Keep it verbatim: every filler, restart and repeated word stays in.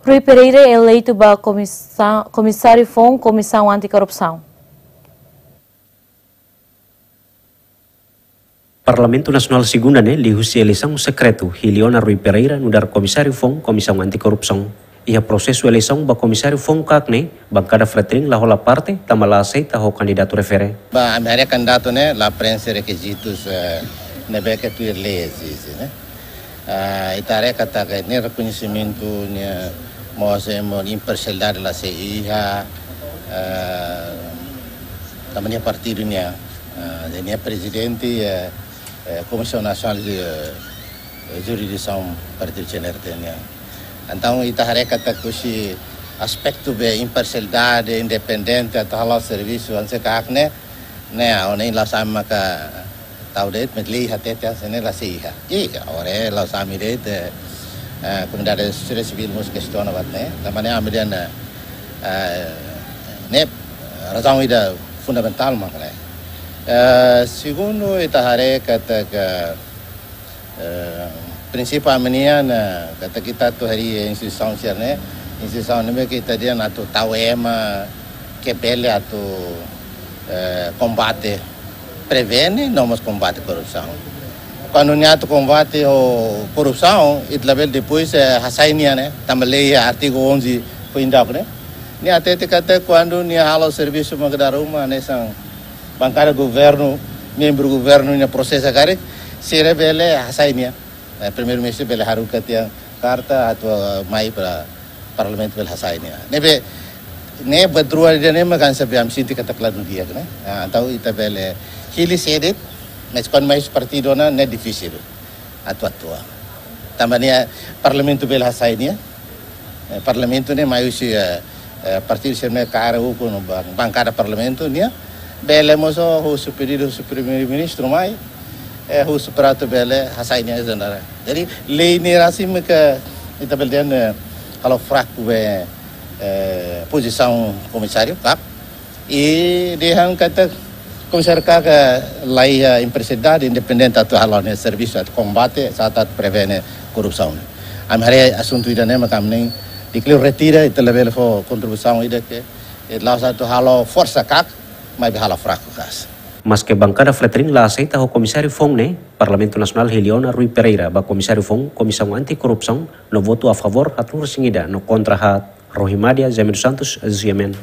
Rui Pereira eleitu ba komisa-, komisáriu foun Komisaun Anti-Korrupsaun. Parlamentu Nasionál Segunda ne'e liuhusi eleisaun sekretu, hili ona Rui Pereira nu'udar komisáriu foun Komisaun Anti-Korrupsaun. Iha prosesu eleisaun ba komisáriu foun kak ne'e, bankada FRETILIN la hola parte, tanba la aseita ho kandidatu refere. Ba, ami haree kandidatu ne'e la preenxe rekizitus, eh, ne'ebé ke tuir lei ezije, ne'e. Ah, ita haree katak ne'e rekoñesimentu ne'e mós, eh, mós imparsialidade la sei iha, ah, tanba nia partidu nia, ah, nia prezidente, eh, eh, Komisaun Nasionál de, eh, Jurisdisaun Partidu C N R T nian. Entaun, ita haree katak husi aspetu be imparsialidade, independente, atu hala'o servisu hanesan kaak ne'e, ne'e, ha'u hanoin la'ós ami maka tau de'it, maibé lei hatete hanesan ne'e la sei iha. I, agora la'ós ami de'it, eh, eh, komunidade sosiedade sivíl mós kestiona buat ne'e, tanba ne'e ami dehan, eh, ne'e razaun ida fundamentál mak ne'e. Eh, segundu, ita haree katak, eh, prinsípiu ami-nian, eh, katak ita atu harii instituisaun sira-ne'e, instituisaun ne'ebé ke ita dehan atu tau ema ke bele atu, eh, kombate, prevene, no mós kombate korrupsaun. Kuandu nia atu kombate ho korrupsaun, ita labele depois, eh, hasai nia, ne'e, tanba lei artigu onze foin daudauk, ne'e. Nia hatete katak kuandu nia halo servisu mak dala ruma, hanesan bankada governu, membru governu nia prosesa karik, sira bele hasai nia. Eh, Primeiru-Ministru bele haruka tiha karta atu, eh, mai ba Parlamentu bele hasai nia. Ne'ebé, ne'e buat rua ida-ne'e mak ami sente katak la di'ak, ne'e. Ah, entaun ita bele hili sé de'it, mas kuandu mai husi partidu ona, ne'e difisil atu atua. Tanba nia Parlamentu bele hasai nia. Eh, Parlamentu ne'e mai husi, eh, eh, partidu sira-ne'e kaer ukun ba-, bankada Parlamentu nian. Bele mós husu pedidu husi Primeiru-Ministru mai, eh, husu para atu bele hasai nia ezendara. Jadi, lei ne'e rasmi ke ita bele dehan, eh, halo fraku be, eh, pozisaun komisáriu kak. I dehan katak komisáriu kak la iha imparsialidade, independente atu hala'o nia servisu atu kombate, serta atu prevene korrupsaun. Ami haree asuntu ida-ne'e mak ami dehan di'ak liu retira, ita labele fó kontribuisaun ida ke, eh, la'ós atu halo forsa kak, maibé halo fraku kak. Maske bankada FRETILIN la aseita ho komisáriu foun ne'e, Parlamentu Nasionál hili ona Rui Pereira ba komisáriu foun Komisaun Anti-Korrupsaun, no votu a favór haat-nulu-resin-ida, no kontra haat. Rohimadia Jaime dos Santos, G M N.